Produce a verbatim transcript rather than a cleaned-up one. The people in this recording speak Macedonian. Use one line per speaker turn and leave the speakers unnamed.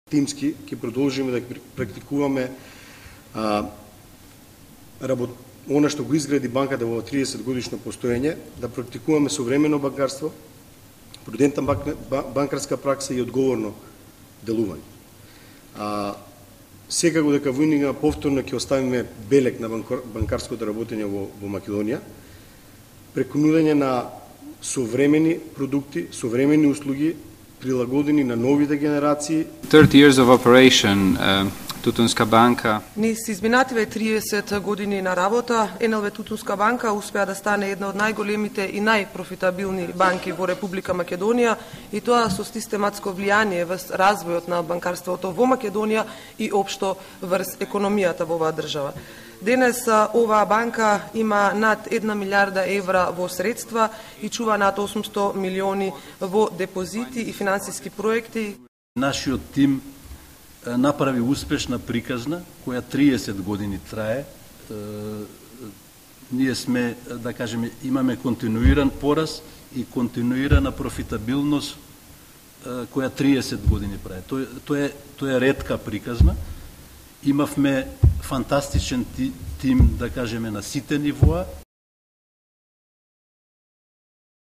Тимски ќе продолжиме да практикуваме а, работ... она што го изгради банката во триесет годишно постоење, да практикуваме современо банкарство, прудентна банкарска пракса и одговорно делување. А, секако дека во иднина повторно ќе оставиме белег на банкарското работење во, во Македонија, преку нудење на современи продукти, современи услуги, прилагодени на новите генерации.
thirty years of operation, uh, Тутунска банка.
Низ изминативе триесет години на работа, Ен Ел Ви Тутунска банка успеа да стане една од најголемите и најпрофитабилни банки во Република Македонија, и тоа со систематско влијание врз развојот на банкарството во Македонија и општо врз економијата во оваа држава. Денес оваа банка има над една милиарда евра во средства и чува над осумсто милиони во депозити и финансиски проекти.
Нашиот тим направи успешна приказна која триесет години трае. Ние сме, да кажеме, имаме континуиран пораз и континуирана профитабилност која триесет години прави. Тоа тоа е тоа е ретка приказна. Имавме фантастичен тим, да кажеме, на сите нивоа.